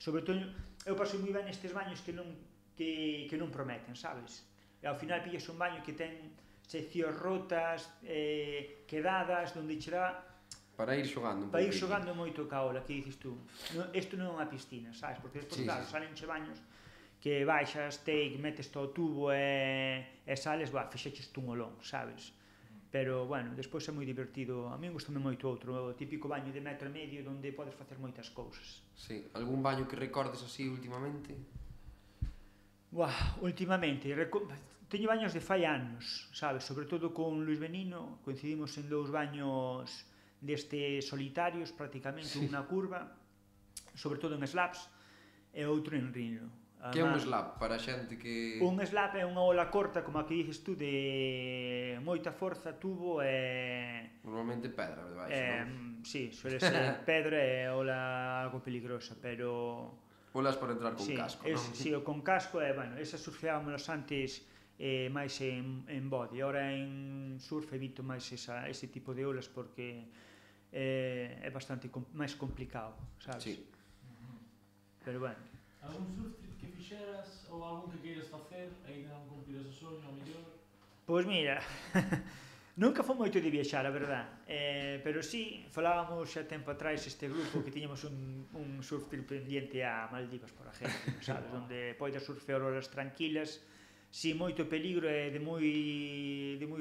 sobre todo, eu paso moi ben nestes baños que non prometen, sabes? E ao final pillas un baño que ten seccións rotas, quedadas, onde che dá para ir xogando un pouco. Para ir xogando moito ca ola, que dices tú. Isto non é unha piscina, sabes? Porque despois, claro, salenche baños que baixas, metes todo o tubo e sales, fixeches tú un olón, sabes? Pero, bueno, despois é moi divertido. A mí gustame moito outro, o típico baño de 1,5 metros onde podes facer moitas cousas. Sí, algún baño que recordes así últimamente? Últimamente, teño baños de fai anos, sabes? Sobre todo con Luis Benino, coincidimos en 2 baños destes solitarios, prácticamente, un na curva, sobre todo en slaps, e outro en rino. Que é un slap para a xente que... Un slap é unha ola corta, como a que dices tú, de moita forza, tubo e... Normalmente pedra, de baixo, non? Sí, suele ser pedra e ola algo peligrosa, pero... Olas para entrar con casco, non? Sí, o con casco, bueno, esas surfeámonos antes máis en body, ahora en surf evito máis ese tipo de olas porque é bastante máis complicado, sabes? Sí. Pero bueno. Algún surf trip que fixeras ou algún que queiras facer e ainda non cumpriras o soño, ao mellor? Pois mira, nunca foi moito de viaxar, a verdad, pero sí, falábamos xa tempo atrás este grupo que tiñamos un surf trip pendiente a Maldivas, por exemplo, sabes, onde podes surfear horas tranquilas, sin moito peligro e de moi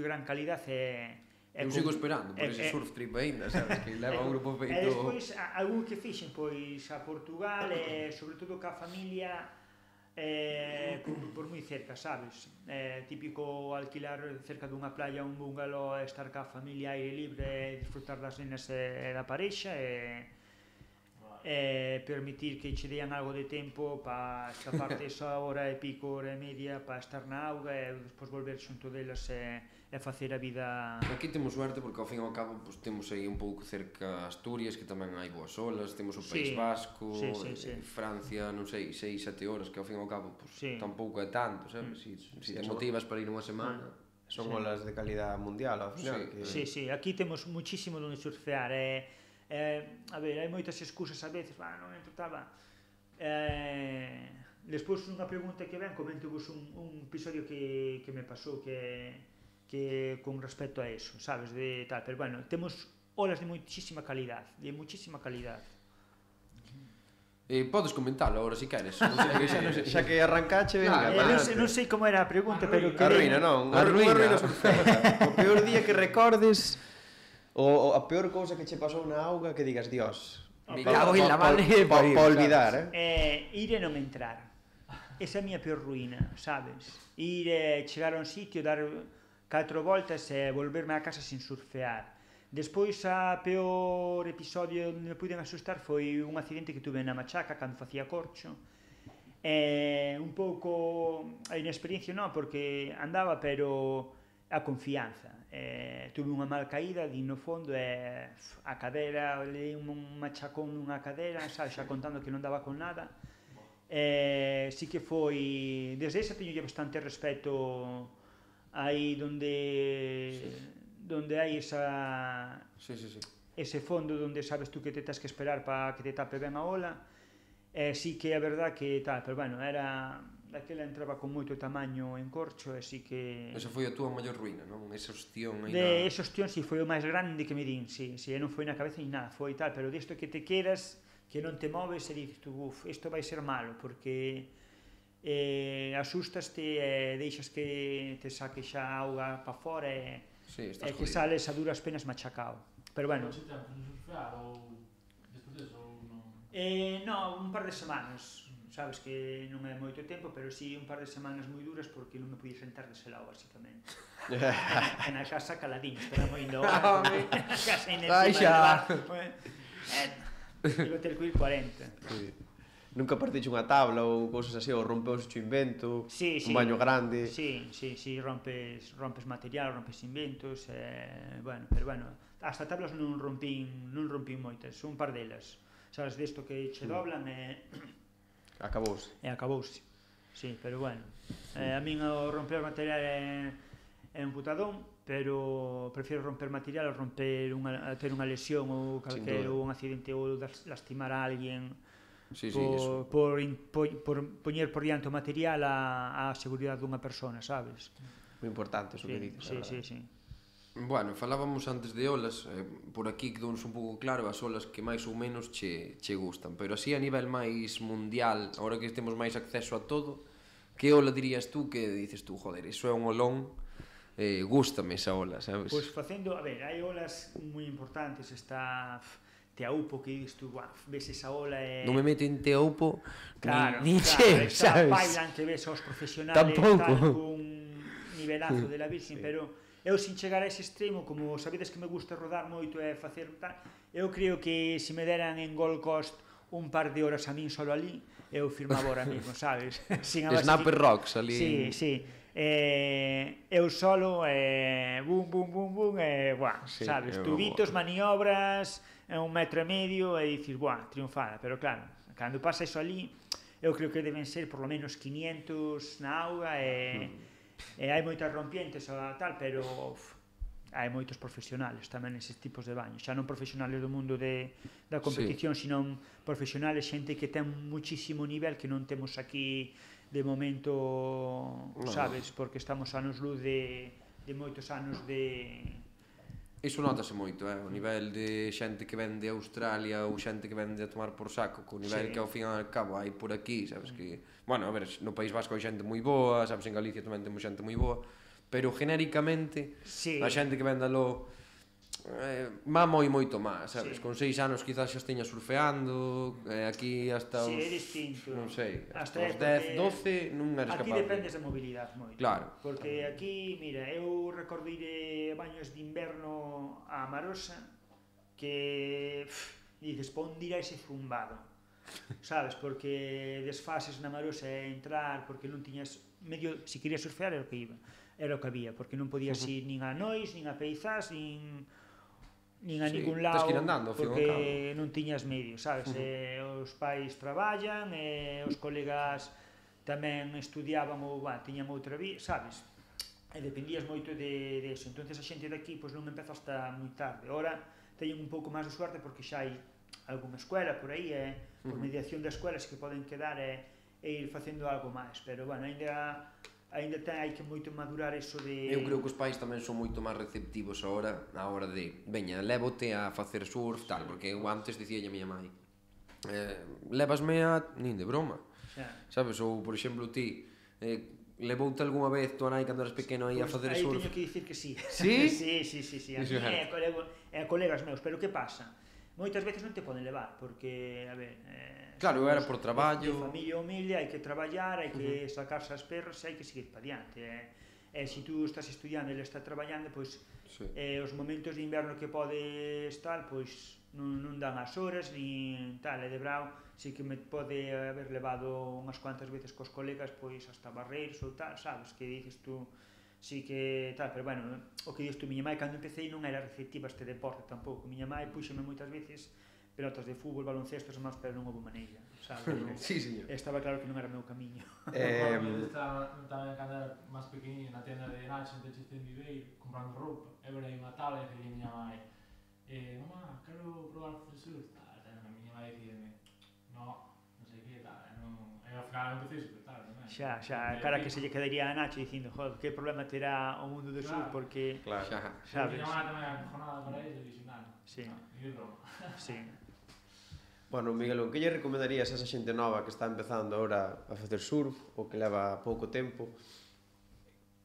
gran calidade. Eu sigo esperando por ese surf trip aínda, sabes, que leva un grupo feito... E despois, algún que fixen, pois, a Portugal, e sobre todo ca familia, por moi cerca, sabes? Típico alquilar cerca dunha playa un bungalow, estar ca familia aire libre, disfrutar das nenas e da parexa, e permitir que che dean algo de tempo para escaparte esa hora e pico, hora e media, para estar na auga e despois volver xunto delas e facer a vida... Aquí temos suerte porque ao fin e ao cabo temos aí un pouco cerca Asturias, que tamén hai boas olas, temos o País Vasco, Francia, non sei, 6-7 horas, que ao fin e ao cabo tampouco é tanto, sabes? Se te motivas para ir unha semana... Son olas de calidad mundial, ao final. Sí, aquí temos muchísimo onde surfear, a ver, hai moitas excusas a veces, non entro, despois unha pregunta que ven, comento vos un episodio que me pasou, que que con respecto a eso, sabes, de tal, pero bueno, temos olas de muchísima calidad, Podes comentalo agora se queres. Xa que arrancache, venga. Non sei como era a pregunta, pero A ruína, non? A ruína surfeira. O peor día que recordes, ou a peor cousa que che pasou na auga, que digas, Dios, Me cago en la madre de pa París, olvidar, ir e non entrar. Esa é a miña peor ruína, sabes? Ir e chegar a un sitio, dar 4 voltas e volverme a casa sin surfear. Despois, a peor episodio onde me puiden asustar foi un accidente que tuve na Machaca cando facía corcho. Un pouco a inexperiencia non, porque andaba, pero a confianza. Tuve unha mal caída, din no fondo, e a cadera, leí un machacón nunha cadera, sabes, xa contando que non daba con nada. Sí que foi, desde esa teño bastante respeto aí donde hai ese fondo donde sabes tú que te tens que esperar para que te tape ben a ola. Sí que é verdad que tal, pero bueno, era daquela entraba con moito tamaño en corcho, e sí que... Esa foi a túa maior ruína, non? Esa ostión aí de esa ostión, sí, foi o máis grande que me din, sí, non foi na cabeza ni nada, foi tal, pero disto que te quedas, que non te moves e dices tú, isto vai ser malo, porque asustaste e deixas que te saque xa a auga para fora e que sales a duras penas machacao. Pero bueno... Pois tempo non surfear ou despois deso ou non? Non, un par de semanas, sabes que non é moito tempo, pero sí un par de semanas moi duras porque non me podía sentar dese lado, basicamente. En a casa caladiño, esperamos indo a casa encima de hotel que ir 40. Nunca partiche unha tabla ou cousas así, ou rompeus o invento, un baño grande. Sí, rompes material, rompes inventos, bueno, pero bueno, hasta tablas non rompín moitas, un par delas. Sabes, desto que che doblan e... Acabouse. Sí, pero bueno, a min o romper material é un putadón, pero prefiero romper material a ter unha lesión ou calquera un accidente ou lastimar a alguén. Por poñer por diante o material a seguridade dunha persona, sabes? Moi importante iso que dices. Sí. Bueno, falábamos antes de olas, por aquí quedounos un pouco claro as olas que máis ou menos che gustan, pero así a nivel máis mundial, agora que temos máis acceso a todo, que ola dirías tú que dices tú, joder, iso é un olón, gústame esa ola, sabes? Pois facendo, a ver, hai olas moi importantes, está... Teaupo, que dices tú, ves esa ola e... Non me meto en Teaupo, ni che, sabes? Bailan que ves aos profesionales tampouco. Tal, con nivelazo de la Virgen, pero eu sin chegar a ese extremo, como sabedes que me gusta rodar moito e facer tal, eu creo que se me deran en Gold Coast un par de horas a min solo ali, eu firmaba ahora mismo, sabes? Snapper Rocks ali. Sí. Eu solo, bum, sabes? Tubitos, maniobras, 1,5 metros e dices, triunfada, pero claro, cando pasa iso ali, eu creo que deben ser por lo menos 500 na auga e hai moitas rompientes ou tal, pero hai moitos profesionales tamén neses tipos de baños, xa non profesionales do mundo da competición, sino profesionales, xente que ten muchísimo nivel que non temos aquí de momento, sabes, porque estamos anos luz de moitos anos de... Iso notase moito, o nivel de xente que ven de Australia ou xente que ven de tomar por saco, co nivel que ao fin e ao cabo hai por aquí, sabes que... Bueno, a ver, no País Vasco hai xente moi boa, sabes, en Galicia tamén temos xente moi boa, pero genéricamente a xente que ven dalo má moito máis, sabes? Con 6 anos quizás xa esteña surfeando, aquí hasta os... é distinto. Non sei, hasta os 10, 12 non eres capaz. Aquí dependes da mobilidade moito. Claro. Porque aquí, mira, eu recordo ir de baños de inverno a Marosa que dices, pa onde irá ese zumbado? Sabes, porque desfases na Marosa e entrar porque non tiñas medio, se querías surfear era o que iba, era o que había, porque non podías ir nin a Nois, nin a Peizás, nin a ningún lado, porque non tiñas medio, sabes? Os pais traballan, os colegas tamén estudiaban ou tiñan outra vida, sabes? E dependías moito de eso. Entonces a xente daqui non empeza hasta moi tarde. Ora teñen un pouco máis de suerte porque xa hai algunha escuela por aí, por mediación das escuelas que poden quedar e ir facendo algo máis, pero bueno, ainda Ainda hai que moito madurar eso de... Eu creo que os pais tamén son moito máis receptivos agora a hora de, veña, lévote a facer surf, tal, porque eu antes dicíalle a miña mãe, lévasme a... nin de broma, sabes? Ou, por exemplo, ti, levoute algunha vez tua nai cando eras pequeno aí a facer surf? Aí teño que dicir que sí. Sí? Sí. A mí e a colegas meus, pero que pasa? Moitas veces non te poden levar, porque, a ver... Claro, era por traballo... De familia humilde, hai que traballar, hai que sacarse as perras e hai que seguir para diante. E se tú estás estudiando e ele está traballando, pois os momentos de inverno que pode estar, pois non dan as horas, nin tal, e de brao, si que me pode haber levado unhas cuantas veces cos colegas, pois hasta barreiros ou tal, sabes, que dices tú... Sí que tal, pero bueno, o que dices tú, miña mãe cando empecé non era receptiva a este deporte tampouco. Miña mãe puxeme moitas veces pelotas de fútbol, baloncestos e máis, pero non houve maneira, sabes? Sí, señor. Estaba claro que non era o meu camiño. Estaba tamén cando era máis pequeniño na tienda de Nacho, en Teches de Viveiro, comprando roupa, e verei unha tabla e dicía miña mãe, mamá, quero probar a facer surf, tal, a miña mãe dicíame, non sei que, tal, e ao final empecé a disfrutar, non é? Xa, cara que se lle quedaría a Nacho dicindo, joder, que problema terá o mundo do surf, porque, sabes? Miña mãe tamén acojonada para iso, e dixo, non, ni de broma. Sí. Bueno, Miguel, o que lle recomendarías a esa xente nova que está empezando agora a facer surf, ou que leva pouco tempo,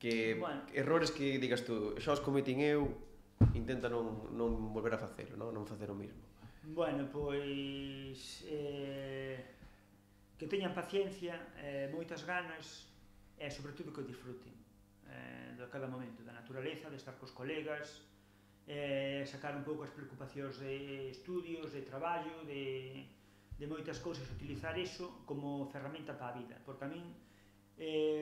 que errores que digas tú, xa os cometín eu, intenta non volver a facelo, non facer o mismo? Bueno, pois... que teñan paciencia, moitas ganas e, sobre todo, que o disfruten de cada momento, da naturaleza, de estar cos colegas, sacar un pouco as preocupacións de estudios, de traballo, de moitas cousas, utilizar iso como ferramenta para a vida, porque a min,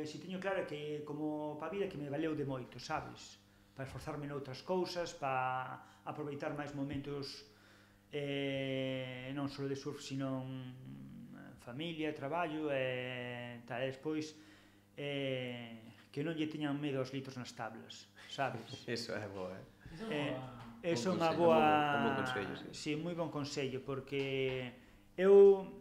se teño claro que como para a vida que me valeu de moito, sabes? Para esforzarme noutras cousas, para aproveitar máis momentos non só de surf, sino familia, traballo e tal, e despois que non lle teñan medo aos litros nas tablas, sabes? Iso é boa, Iso é unha boa... Sí, moi bon consello, porque eu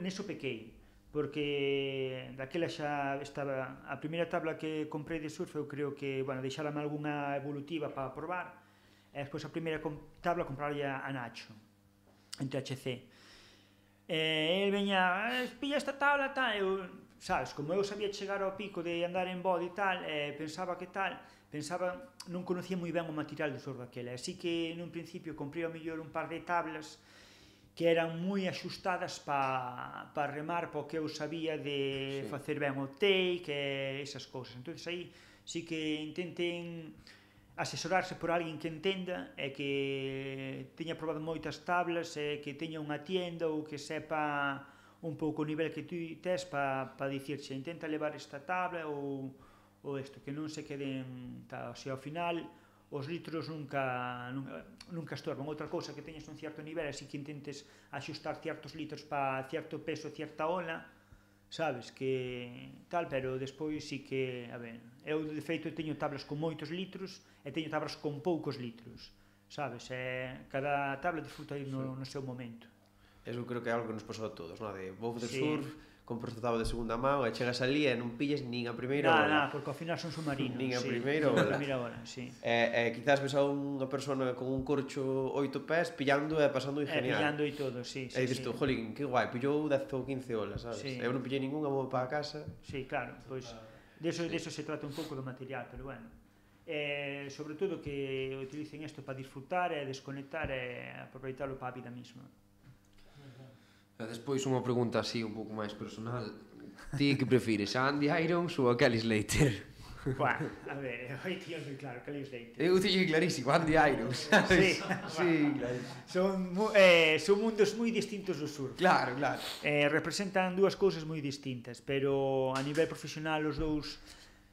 neso pequei, porque daquela xa estaba... A primeira tabla que comprei de surf, eu creo que, bueno, deixárame algunha evolutiva para probar, e despois a primeira tabla comprarlle a Nacho, en THC. El veña, pilla esta tabla, tal, eu, sabes, como eu sabía chegar ao pico de andar en body e tal, pensaba que tal, non conocía moi ben o material do surf daquela, así que nun principio comprei ao mellor un par de tablas que eran moi axustadas para remar, para o que eu sabía de facer ben o take e esas cousas. Entón aí sí que intenten asesorarse por alguén que entenda e que teña probado moitas tablas e que teña unha tienda ou que sepa un pouco o nivel que tú tes para dicirche intenta levar esta tabla ou isto, que non se queden tal, o sea, ao final os litros nunca estorban. Outra cousa que teñes un certo nivel, así que intentes axustar certos litros para certo peso, certa ola, sabes, que tal, pero despois sí que, a ver, eu de feito teño tablas con moitos litros e teño tablas con poucos litros, sabes, e cada tabla disfruta no seu momento. Eso creo que é algo que nos pasou a todos, non? De vou facer surf, compras a tabla de segunda mão e chegas ali e non pilles nin a primeira ola. Porque ao final son submarinos. Nin a primeira ola. E quizás ves a unha persona con un corcho 8 pés pillando e pasando genial. Pillando e todo, sí. E dices tú, jolín, que guai, pillou 10 ou 15 olas, sabes? Eu non pillei ninguna, vou para a casa. Sí, claro, pois de eso se trata un pouco do material, pero bueno. Sobre todo que utilicen isto para disfrutar e desconectar e aproveitarlo para a vida mesma. E despois unha pregunta así un pouco máis personal. Ti que prefires, a Andy Irons ou a Kelly Slater? Buah, a ver, aí tío moi claro, Kelly Slater. Eu teño clarísimo, Andy Irons, sabes? Sí, claro. Son mundos moi distintos do surf. Claro. Representan dúas cousas moi distintas, pero a nivel profesional os dous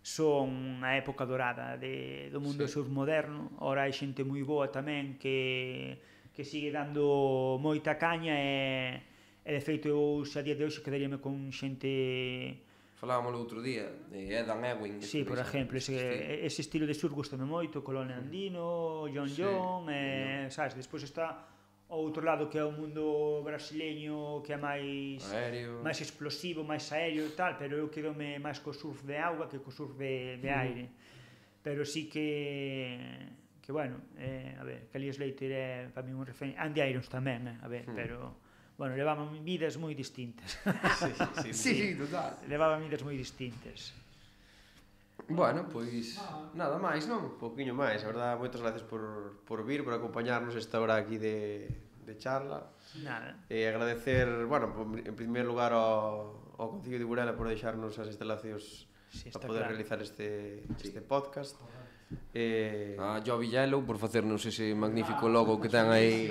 son a época dorada do mundo do surf moderno. Ora hai xente moi boa tamén que sigue dando moita caña e de feito eu xa a día de hoxe quedaríame con xente... Falábamos outro día, de Edan Ewing. Sí, por exemplo, ese estilo de surf gustame moito, Colón Andino, John, sabes, despois está outro lado que é o mundo brasileño, que é máis explosivo, máis aéreo e tal, pero eu quedome máis co surf de auga que co surf de aire. Pero sí que bueno, a ver, Kelly Slater é para mí un referente, Andy Irons tamén, a ver, pero bueno, levaban vidas moi distintas. Sí, total. Levaban vidas moi distintas. Bueno, pois nada máis, non? Un pouquiño máis, a verdade, moitas gracias por vir, por acompañarnos esta hora aquí de charla. Nada. E agradecer, bueno, en primeiro lugar ao Concello de Burela por deixarnos as instalacións para poder realizar este podcast. A Jovi Yellow por facernos ese magnífico logo que ten aí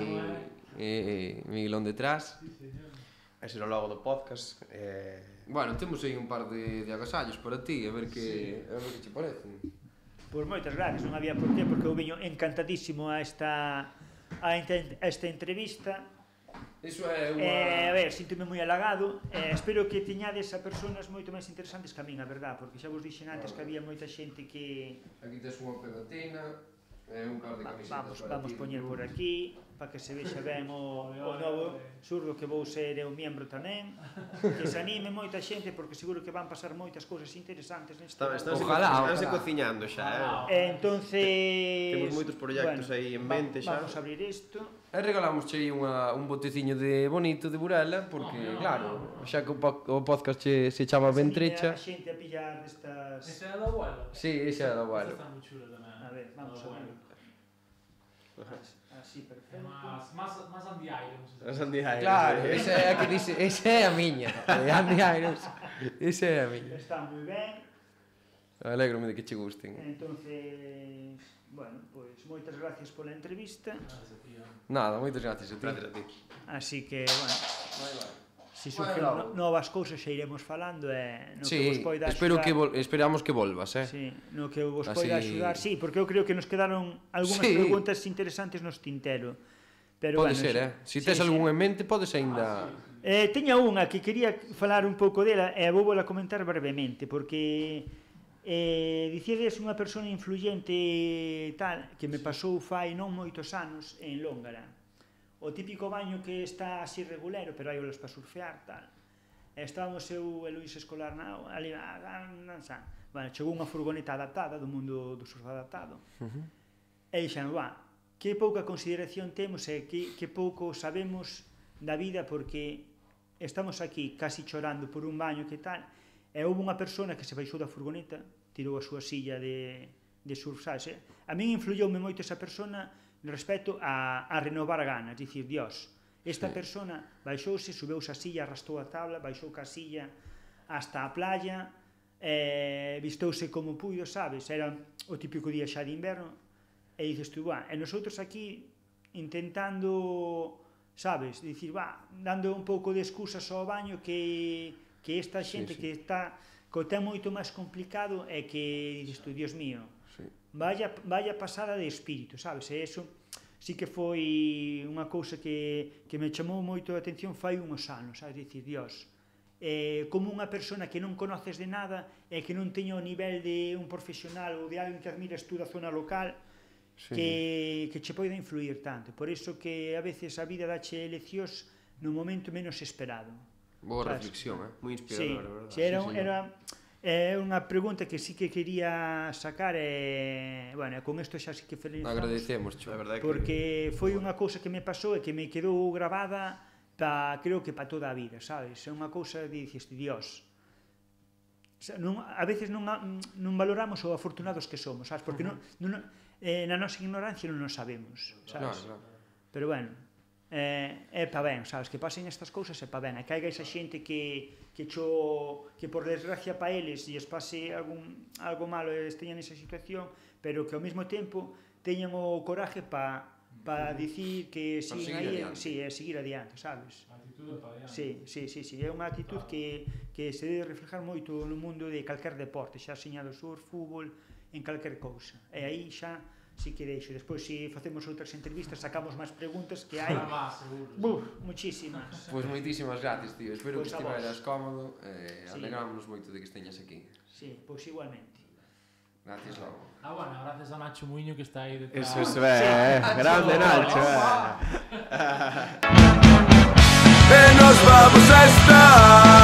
Miguelón detrás. Ese é o logo do podcast. Bueno, temos aí un par de agasallos para ti, a ver que che parecen. Pois moitas gracias, non había por qué, porque eu veño encantadísimo a esta entrevista. Iso é unha... A ver, síntome moi halagado. Espero que teñades a persoas moito máis interesantes que a min, a verdad, porque xa vos dixen antes que había moita xente que... Aquí tes unha pegatina, un par de camisetas Vamos poñer por aquí, para que se vexa ben o novo surdo, que vou ser eu miembro tamén, que se anime moita xente, porque seguro que van pasar moitas cousas interesantes neste... Estánse cociñando xa, Entonces... Temos moitos proxectos aí en mente xa. Vamos a abrir isto. E regalamos aí un boteciño de bonito de Burela, porque, claro, xa que o podcast se chama Ventrecha... A xente a pillar destas... Ese é do abuelo? Sí, ese é do abuelo. Ese está moi chulo tamén. A ver, vamos a ver. Así, perfecto. Más Andy Irons. Andy Irons. Claro, ese é a que dice, ese é a miña. Andy Irons, ese é a miña. Está moi ben. Alégrome de que che gusten. Entonces, bueno, pois moitas gracias pola entrevista. Nada, moitas gracias a ti. Gracias a ti. Así que, bueno, se surgen novas cousas xa iremos falando e no que vos poida axudar. Esperamos que volvas, Sí, no que vos poida axudar, sí, porque eu creo que nos quedaron algunhas preguntas interesantes nos tintero. Pero pode ser, Si tes algún en mente, podes aínda... Teña unha que quería falar un pouco dela e vou a comentar brevemente, porque dicides unha persona influyente tal, que me pasou fai non moitos anos en Lóngara. O típico baño que está así regulero, pero hai olas para surfear, tal. Estábamos eu e Luís Escolar ali, bueno, chegou unha furgoneta adaptada do mundo do surf adaptado. E dixen, que pouca consideración temos e que pouco sabemos da vida, porque estamos aquí casi chorando por un baño que tal, e houve unha persona que se baixou da furgoneta, tirou a súa silla de surf, sabes? A min influyoume moito esa persona respecto a renovar ganas, dicir, Dios, esta persona baixouse, subeuse a silla, arrastou a tabla, baixou ca silla hasta a playa, vistouse como puido, sabes? Era o típico día xa de inverno, e dices tú, e nosotros aquí intentando, sabes, dicir, dando un pouco de excusas ao baño que esta xente que está co ten moito máis complicado e que dices tú, Dios mío, vaya pasada de espírito, sabes? E eso sí que foi unha cousa que me chamou moito a atención fai uns anos, sabes? Dicir, Dios, como unha persona que non conoces de nada e que non teña o nivel de un profesional ou de alguén que admiras tú da zona local, que che poida influir tanto. Por iso que a veces a vida dache leccións no momento menos esperado. Boa reflexión, moi inspiradora, verdad? É unha pregunta que sí que quería sacar e, bueno, con isto xa sí que felicitamos. Agradecemos, porque foi unha cousa que me pasou e que me quedou gravada creo que para toda a vida, sabes? É unha cousa de dices, Dios, a veces non valoramos o afortunados que somos, sabes? Porque na nosa ignorancia non nos sabemos, sabes? Pero bueno, é pa ben, sabes? Que pasen estas cousas é pa ben, e caiga esa xente que por desgracia pa eles lles pase algo malo e esteñan nesa situación, pero que ao mesmo tempo teñan o coraje pa dicir que siguen aí, seguir adiante, sabes? A actitud pa adiante. Sí, é unha actitud que se debe reflejar moito no mundo de calquer deporte, xa señado surf, fútbol, en calquer cousa. E aí xa sí que deixo. Despois, se facemos outras entrevistas, sacamos máis preguntas que hai. Muchísimas. Pois moitísimas gracias, tío. Espero que estiveras cómodo e alegrámonos moito de que esteñas aquí. Sí, pois igualmente. Gracias, logo. Bueno, gracias a Nacho Muiño que está aí detrás. Eso, grande Nacho, Que nos vamos a estar.